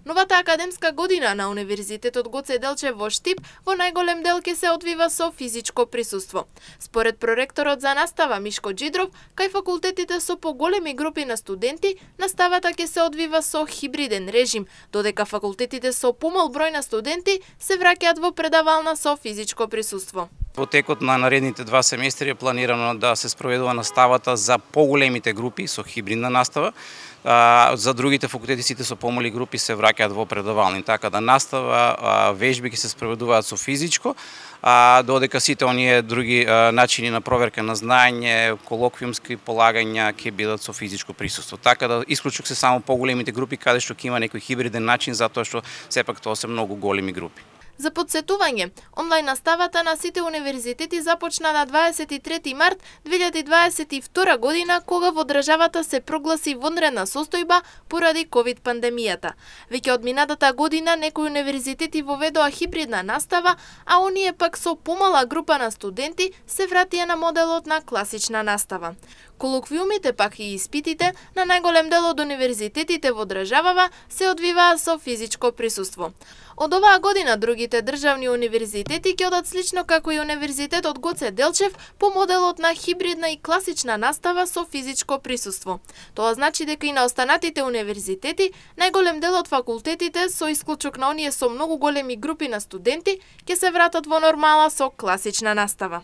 Новата академска година на Универзитетот Гоце Делчев во Штип во најголем дел ќе се одвива со физичко присуство. Според проректорот за настава Мишко Џидров, кај факултетите со поголеми групи на студенти, наставата ќе се одвива со хибриден режим, додека факултетите со помал број на студенти се враќаат во предавална со физичко присуство. Во текот на наредните 2 семестри е планирано да се спроведува наставата за поголемите групи со хибридна настава. За другите факултети сите со помали групи се враќаат во предавални, така да настава, вежби ќе се спроведуваат со физичко, додека сите оние други начини на проверка на знаење, колоквиумски полагања ќе бидат со физичко присуство. Така да исклучок се само поголемите групи каде што ќе има некој хибриден начин, затоа што сепак тоа се многу големи групи. За подсетување, онлайн наставата на сите универзитети започна на 23 март 2022 година, кога во државата се прогласи вонредна состојба поради ковид пандемијата. Веќе од минатата година некои универзитети воведоа хибридна настава, а оние пак со помала група на студенти се вратија на моделот на класична настава. Колоквиумите пак и испитите на најголем дел од универзитетите во државава се одвиваа со физичко присуство. Од оваа година другите државни универзитети ќе одат слично како и Универзитетот Гоце Делчев по моделот на хибридна и класична настава со физичко присуство. Тоа значи дека и на останатите универзитети најголем дел од факултетите, со исклучок на оние со многу големи групи на студенти, ќе се вратат во нормала со класична настава.